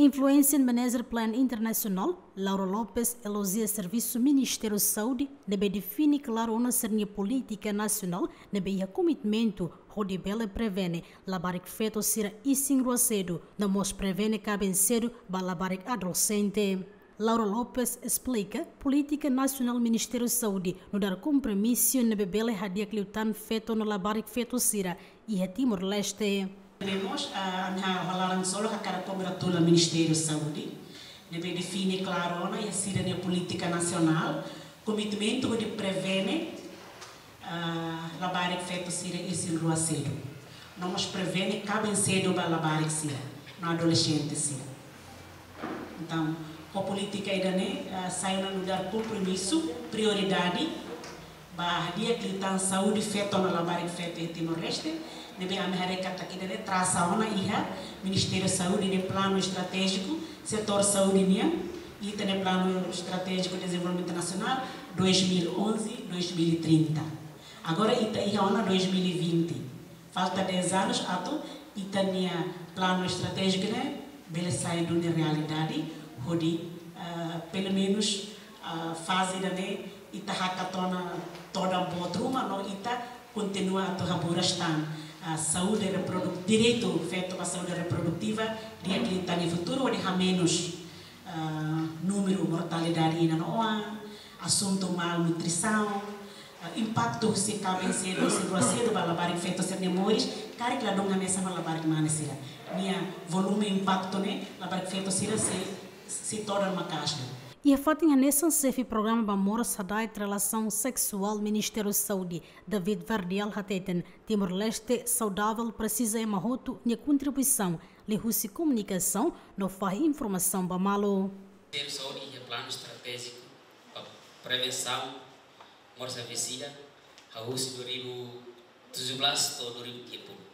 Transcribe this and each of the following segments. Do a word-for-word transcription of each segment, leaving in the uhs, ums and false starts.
Influencer Manager Plan Internasionál, Laura Lopes, elojia servisu Ministériu Saúde ne'ebé define klaru ona sira-nia polítika nasionál ne'ebé iha komitmentu hodi bele prevene labarik feto sira isin-rua sedu, no mós prevene kaben sedu ba labarik adolexente. Laura Lopes esplika, polítika nasionál Ministériu Saúde nu'udar kompromisu ne'ebé bele hadi'a liután feto no labarik feto sira iha Timor-Leste. Temos, ah, ami ha'u hakarak solo hakarak kongratula Ministériu Saúde ne'ebé define klaru ona iha sira-nia polítika nasionál komitmentu hodi prevene, ah, labarik feto sira isin-rua sedu. No mós prevene kaben sedu ba labarik sira, no adolexente sira. Entaun, ho polítika ida-ne'e, ah, sai ona nu'udar kompromisu, prioridade ba hadi'a liután saúde feto no labarik feto iha Timor-Leste, ne'ebé ami haree katak ida-ne'e trasa ona iha Ministériu Saúde nia planu estratéjiku setór saúde nian, ita-nia Planu Estratéjiku Dezenvolvimentu Nasionál dois mil e onze, dois mil e trinta. Agora ita iha ona dois mil e vinte. Falta dez anos atu ita-nia planu estratéjiku ne'e bele sai duni realidade, hodi, ah, pelumenus, ah, faze ida-ne'e ita hakat ona todan boot ruma no ita kontinua atu haburas tan, ah, saúde reproduk-, direitu feto ba saúde reprodutiva, di'ak liután iha futuru hodi hamenus, ah, númeru mortalidade inan-oan, asuntu malnutrisaun, ah, impaktu husi kaben sedu, isin-rua sedu ba labarik feto sira-nia moris, karik ladún hanesan ho labarik mane sira. Nia volume impaktu ne'e, labarik feto sira sei, sei todan maka'as. Iha fatin hanesan, xefe programa ba moras hada'et relasaun seksuál Ministériu Saúde, David Verdial hateten, Timor-Leste saudável presiza ema hotu nia kontribuisaun liuhusi komunikasaun no fahe informasaun ba malu. Ministériu Saúde iha planu estratéjiku ba prevensaun moras suicida, hahú husi dua ribu tujuh belas to'o dua ribu tiga puluh.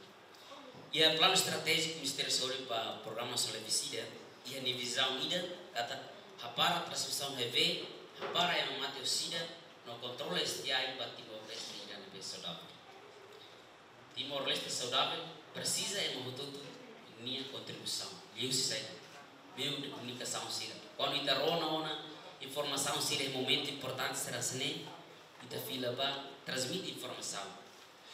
Iha planu estratéjiku Ministériu Saúde ba programa suicida, iha nia vizaun ida katak hapara transmisaun H I V, hapara ema mate ho sida, no kontrola S T I ba Timor-Leste ida ne'ebé saudável. Timor-Leste saudável presiza ema hotu-hotu nia kontribuisaun. Liuhusi saida? Meiu de komunikasaun sira. Kuandu ita rona ona informasaun sira iha momentu importante sira hanesan ne'e, ita fila ba transmite informasaun.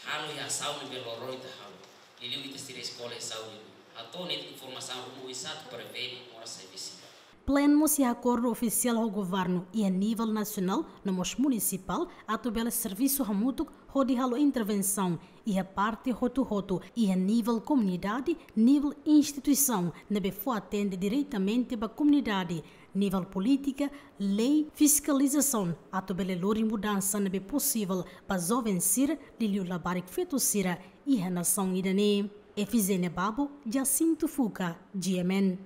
Halo iha asaun ne'ebé loroloron ita halo. Liuliu ita sira eskola iha saúde. Hato'o netik informasaun ruma oinsá atu prevene moras suicida. Plan mós iha akordu ofisiál ho governu iha nivel nasionál no mós munisipál atu bele servisu hamutuk hodi halo intervensaun iha parte hotu-hotu, iha nivel komunidade, nivel instituisaun ne'ebé fó atende diretamente ba komunidade, nivel polítika, lei, fiskalizasaun, atu bele lori mudansa ne'ebé posivel ba joven sira, liuliu labarik feto sira iha nasaun ida-ne'e. Efizénia Babo, Jacinto Fuca, G M N.